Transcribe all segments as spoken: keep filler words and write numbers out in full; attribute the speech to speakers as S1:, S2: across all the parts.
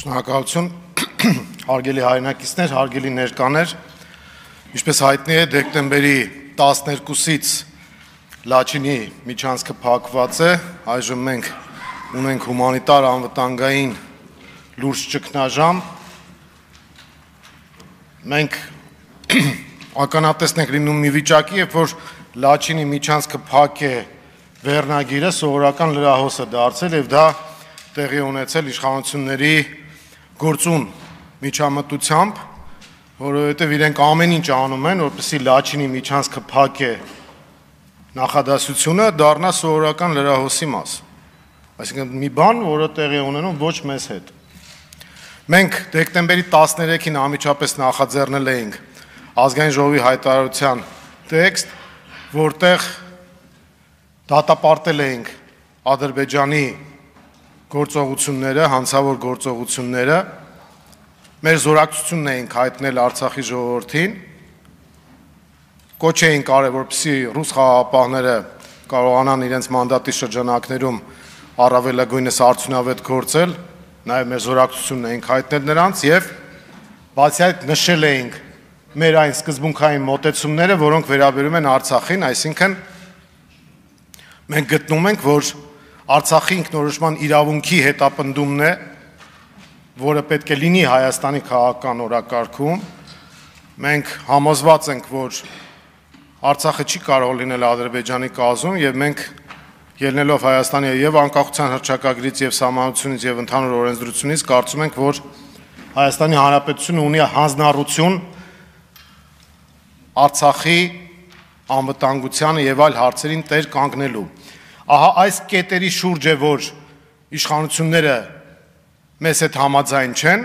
S1: Շնորհակալություն, հարգելի հայրենակիցներ, հարգելի ներկաներ, ինչպես հայտնի է, դեկտեմբերի տասներկուսից Լաչինի միջանցքը փակված է, այժմ մենք ունենք հումանիտար անվտանգային լուրջ ճգնաժամ, մենք ականատեսն ենք լինում մի վիճակի, երբ որ Լաչինի միջանցքը փակ է վերնագիրը սովորական լրահոս է դարձել եւ դա տեղի ունեցել իշխանությունների գործուն միջամտությամբ, որովհետև իրենք ամեն ինչ անում են, որպեսզի Լաչինի միջանցքը փակ է նախադասությունը դառնա սովորական լրահոսի մաս։ Այսինքն մի բան, որը տեղի ունենում ոչ մեզ հետ։ Մենք դեկտեմբերի տասներեքին անմիջապես նախաձեռնել էինք ազգային ժողովի հայտարարության տեքստ, որտեղ դատապարտել էինք Ադրբեջանի գործողությունները, հանցավոր գործողությունները, մեր զորակցությունն էինք հայտնել Արցախի ժողովրդին, կոչ էինք արել, որպեսզի ռուս խաղաղապահները կարողանան իրենց մանդատի շրջանակներում առավելագույնս արդյունավետ գործել, նաև մեր զորակցությունն էինք հայտնել նրանց եւ բացի այդ նշել էինք մեր այն սկզբունքային մոտեցումները, որոնք վերաբերում են Արցախին, այսինքն մենք գտնում ենք, որ Արցախի ինքնորոշման իրավունքի հետապնդումն է, որը պետք է լինի Հայաստանի քաղաքական օրակարգում, մենք համոզված ենք, որ Արցախը չի կարող լինել Ադրբեջանի կազմում եւ մենք ելնելով Հայաստանի եւ անկախության հռչակագրից եւ սահմանությունից եւ ընդհանուր օրենսդրությունից կարծում ենք, որ Հայաստանի Հանրապետությունը ունի հանձնառություն Արցախի անվտանգությանը եւ այլ հարցերին տեր կանգնելու։ Ահա այս կետերի շուրջ է, որ իշխանությունները մեզ հետ համաձայն չեն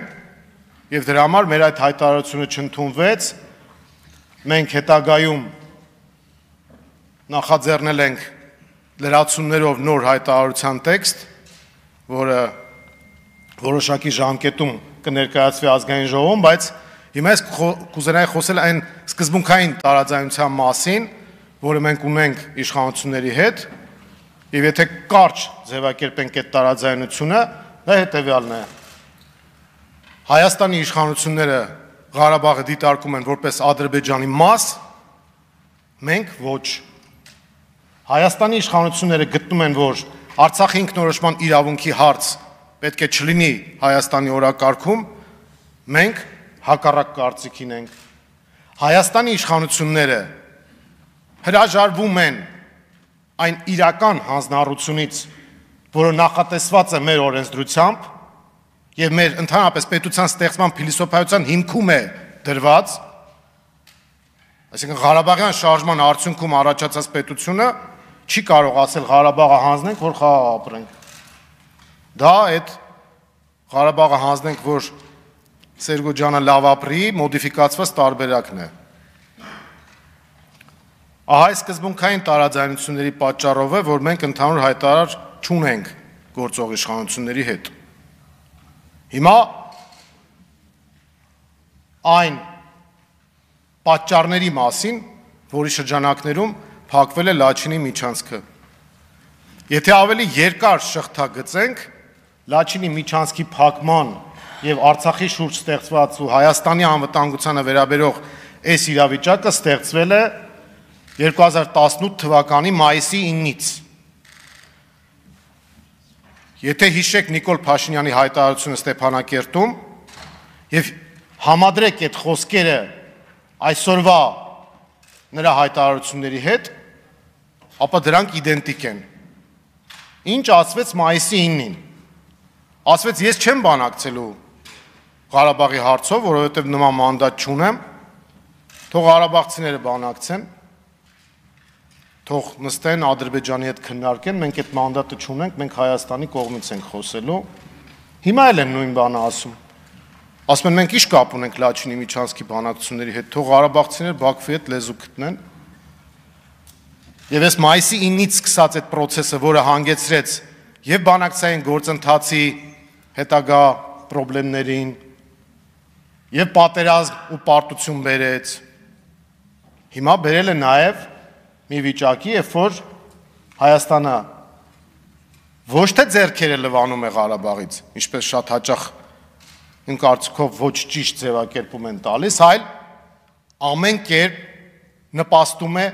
S1: եւ դրա համար մեր այդ հայտարարությունը չընդունվեց։ Մենք հետագայում նախաձեռնել ենք լրացումներով նոր հայտարարության տեքստ, որը որոշակի ժամկետում կներկայացվի ազգային ժողովում, բայց հիմա ես կուզենայի խոսել այն սկզբունքային տարաձայնության մասին, որը մենք ունենք իշխանությունների հետ, եւ եթե կարճ ձևակերպենք այդ տարաձայնությունը, դա հետեւյալն է. Հայաստանի իշխանությունները Ղարաբաղը դիտարկում են որպես Ադրբեջանի մաս, մենք ոչ։ Հայաստանի իշխանությունները գտնում են, որ Արցախի ինքնորոշման իրավունքի հարց պետք է չլինի Հայաստանի օրակարգում, մենք հակառակ կարծիքին ենք։ Հայաստանի իշխանությունները հրաժարվում են այն իրական հանձնառությունից, որը նախատեսված է մեր օրենսդրությամբ եւ մեր ընդհանրապես պետության ստեղծման փիլիսոփայության հիմքում է դրված, այսինքն Ղարաբաղյան շարժման արդյունքում առաջացած պետությունը չի կարող ասել Ղարաբաղը հանձնենք, որ խաղաղ ապրենք։ Դա այդ Ղարաբաղը հանձնենք, որ Սերգո ջանը լավ ապրի, մոդիֆիկացված տարբերակն է։ Ահա այս սկզբունքային տարաձայնությունների պատճառով է, որ մենք ընդհանուր հայտարար չունենք գործող իշխանությունների հետ։ Հիմա այն պատճառների մասին, որի շրջանակներում փակվել է Լաչինի միջանցքը։ Եթե ավելի երկար շղթա-գծենք Լաչինի միջանցքի փակման եւ Արցախի շուրջ ստեղծված ու Հայաստանի անվտանգությանը վերաբերող այս իրավիճակը ստեղծվել է երկու հազար տասնութ թվականի մայիսի իննից։ Եթե հիշեք Նիկոլ Փաշինյանի հայտարարությունը Ստեփանակերտում եւ համադրեք այդ խոսքերը այսօրվա նրա հայտարարությունների հետ, ապա դրանք իդենտիկ են։ Ինչ ասվեց մայիսի իննին։ Ասվեց ես չեմ բանակցելու Ղարաբաղի հարցով, որովհետև նման մանդատ չունեմ, թող ղարաբաղցիները բանակցեն, թող նստեն Ադրբեջանի հետ քննարկեն, մենք այդ մանդատը չունենք, մենք Հայաստանի կողմից ենք խոսելու։ Հիմա էլ են նույն բանը ասում։ Ասում են մենք ի՞նչ կապ ունենք Լաչինի միջանցքի բանակցությունների հետ, թող ղարաբաղցիները Բաքվի հետ լեզու գտնեն։ Եվ այս մայիսի իննից սկսած այդ process-ը, որը հանգեցրեց եւ բանակցային գործընթացի հետագա խնդիրներին եւ պատերազմ ու պարտություն բերեց, հիմա բերել է նաեւ մի վիճակի, երբ որ Հայաստանը ոչ թե ձեռքերը լվանում է Ղարաբաղից, ինչպես շատ հաճախ իմ կարծիքով ոչ ճիշտ ձևակերպում են տալիս, այլ ամեն կերպ նպաստում է,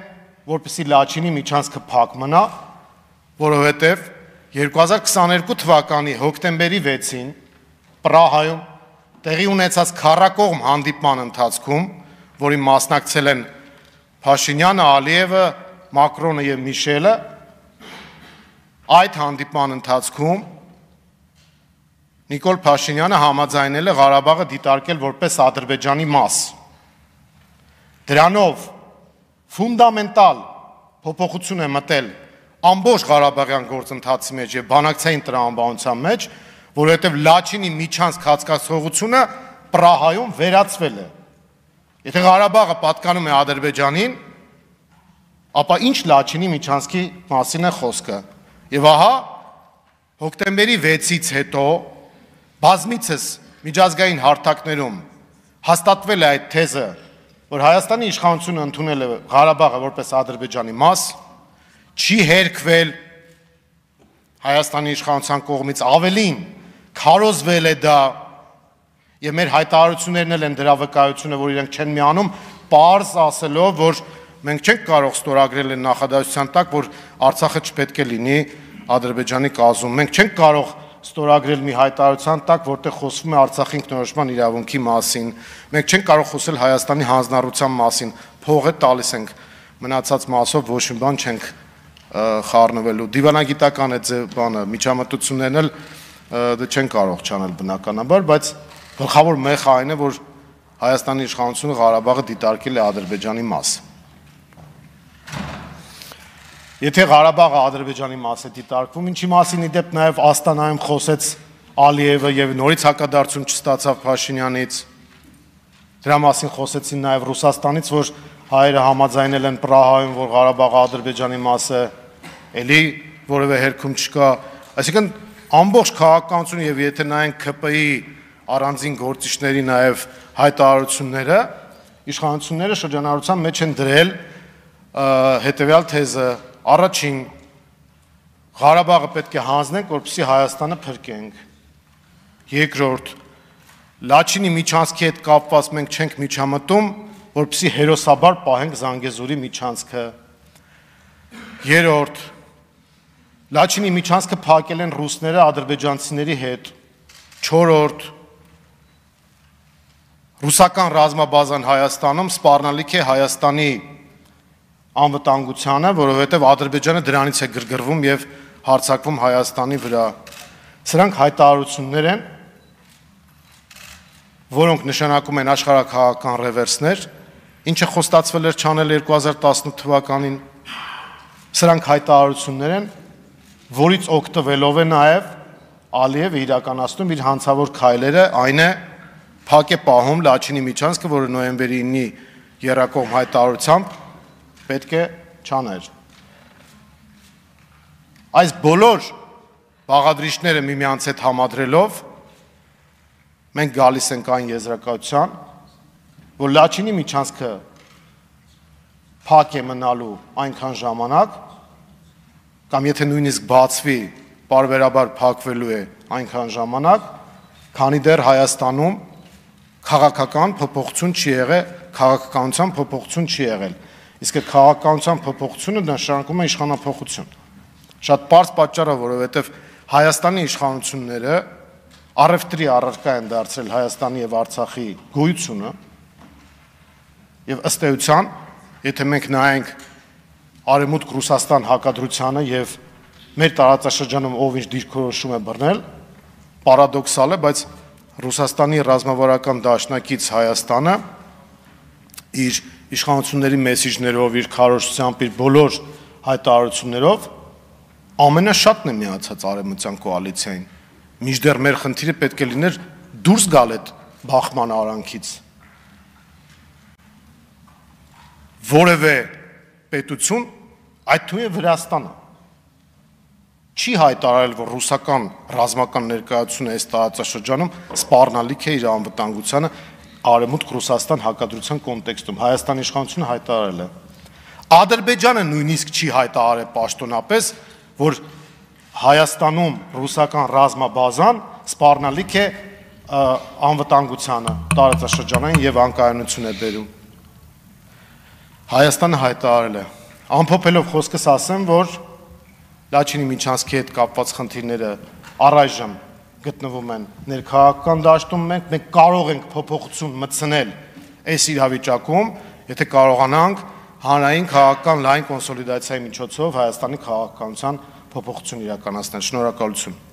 S1: որպեսզի Լաչինի միջանցքը փակ մնա, որովհետև երկու հազար քսաներկու թվականի հոկտեմբերի վեցին Պրահայում տեղի ունեցած քառակողմ հանդիպման ընթացքում, որին մասնակցել են Փաշինյանը, Ալիևը, Մակրոնը եւ Միշելը, այդ հանդիպման ընթացքում Նիկոլ Փաշինյանը համաձայնել է Ղարաբաղը դիտարկել որպես Ադրբեջանի մաս։ Դրանով ֆունդամենտալ փոփոխություն է մտել ամբողջ Ղարաբաղյան գործընթացի մեջ եւ բանակցային տրամաբանության մեջ, որովհետեւ Լաչինի միջանցք հատկացողությունը Պրահայում վերացվել է։ Եթե Ղարաբաղը պատկանում է Ադրբեջանին, ապա ինչ Լաչինի միջանցքի մասին է խոսքը։ Եվ ահա հոկտեմբերի վեցից հետո բազմիցս միջազգային հարթակներում հաստատվել է այդ թեզը, որ Հայաստանի իշխանությունը ընդունել է Ղարաբաղը որպես Ադրբեջանի մաս, չի հերքվել Հայաստանի իշխանության կողմից, ավելին քարոզվել է դա, եւ մեր հայտարարություններն էլ են դրա վկայությունը, որ իրենք չեն միանում, պարզ ասելով, որ մենք չենք կարող ստորագրել այն նախադասության տակ, որ Արցախը չպետք է լինի Ադրբեջանի կազմում։ Մենք չենք կարող ստորագրել մի հայտարարության տակ, որտեղ խոսվում է Արցախի ինքնորոշման իրավունքի մասին։ Մենք չենք կարող խոսել Հայաստանի հանձնառության մասին, փողը տալիս ենք, մնացած մասով ոչ մի բան չենք խառնվելու։ Դիվանագիտական է բանը, միջամտություններն էլ դա չեն կարող չանել բնականաբար, բայց գլխավոր մեխը այն է, որ Հայաստանի իշխանությունը Ղարաբաղը դիտարկել է Ադրբեջանի մաս։ Եթե Ղարաբաղը Ադրբեջանի մաս է դիտարկվում, ինչի մասին ի դեպ նաև Աստանայում խոսեց Ալիևը եւ նորից հակադարձում չստացավ Փաշինյանից, դրա մասին խոսեցին նաև Ռուսաստանից, որ հայերը համաձայնել են Պրահայում, որ Ղարաբաղը Ադրբեջանի մաս է, էլի որևէ հերքում չկա, այսինքն ամբողջ քաղաքականությունը եւ եթե նայենք ՔՊ-ի առանձին գործիչների նաև հայտարարությունները, իշխանությունները շրջանառության մեջ են դրել հետեւյալ թեզը. առաջին Ղարաբաղը պետք է հանձնենք, որպեսզի Հայաստանը փրկենք։ Երկրորդ Լաչինի միջանցքի հետ կապված մենք չենք միջամտում, որպեսզի հերոսաբար պահենք Զանգեզուրի միջանցքը։ Երրորդ Լաչինի միջանցքը փակել են ռուսները ադրբեջանցիների հետ։ Չորրորդ ռուսական ռազմաբազան Հայաստանում սպառնալիք է Հայաստանի անվտանգությանը, որովհետև Ադրբեջանը դրանից է գրգռվում եւ հարձակվում Հայաստանի վրա։ Սրանք հայտարարություններ են, որոնք նշանակում են աշխարհաքաղաքական ռևերսներ, ինչը խոստացվել էր չանել երկու հազար տասնութ թվականին։ Սրանք հայտարարություններ են, որից օգտվելով է նաեւ Ալիևը իրականացնում իր հանցավոր քայլերը, այն է փակ է պահում Լաչինի միջանցքը, որը նոյեմբերի ինի երակողմ հայտարարությամբ պետք է չաներ։ Այս բոլոր բաղադրիչները միմյանց հետ համադրելով մենք գալիս ենք այն եզրակացության, որ Լաչինի միջանցքը փակ է մնալու այնքան ժամանակ, կամ եթե նույնիսկ բացվի, պարբերաբար փակվելու է այնքան ժամանակ, քանի դեռ Հայաստանում քաղաքական փոփոխություն չի եղել, քաղաքականության փոփոխություն չի եղել։ Իսկ այդ քաղաքականության փոփոխությունը նշանակում է իշխանափոխություն։ Շատ պարզ պատճառը, որովհետև Հայաստանի իշխանությունները առևտրի առարկա են դարձրել Հայաստանի եւ Արցախի գոյությունը, եւ ըստ էության, եթե մենք նայենք Արևմուտք Ռուսաստան հակադրությանը եւ մեր տարածաշրջանում ով ինչ դիրքորոշում է բռնել, պարադոքսալ է, բայց Ռուսաստանի ռազմավարական դաշնակից Հայաստանը իր իշխանությունների մեսիջներով, իր քարոզությամբ, իր բոլոր հայտարարություններով ամենաշատն է միացած արևմտյան կոալիցիային։ Մինչդեռ մեր խնդիրը պետք է լիներ դուրս գալ այդ բախման արանքից։ Որևէ պետություն, այդ թվում է Վրաստանը, չի հայտարարել, որ ռուսական ռազմական ներկայությունը այս տարածաշրջանում սպառնալիք է իր անվտանգությանը Արևմուտք Ռուսաստան հակադրության կոնտեքստում։ Հայաստանի իշխանությունը հայտարարել է։ Ադրբեջանը նույնիսկ չի հայտարարել պաշտոնապես, որ Հայաստանում ռուսական ռազմաբազան սպառնալիք է անվտանգությանը տարածաշրջանային եւ անկայունություն է բերում։ Հայաստանը հայտարարել է, ամփոփելով խոսքս ասեմ, որ Լաչինի միջանցքի հետ կապված խնդիրները առայժմ գտնվում են ներքաղաքական դաշտում, մենք մենք կարող ենք փոփոխություն մտցնել այս իրավիճակում, եթե կարողանանք հանրային քաղաքական լայն կոնսոլիդացիայի միջոցով Հայաստանի քաղաքականության փոփոխություն իրականացնել։ Շնորհակալություն։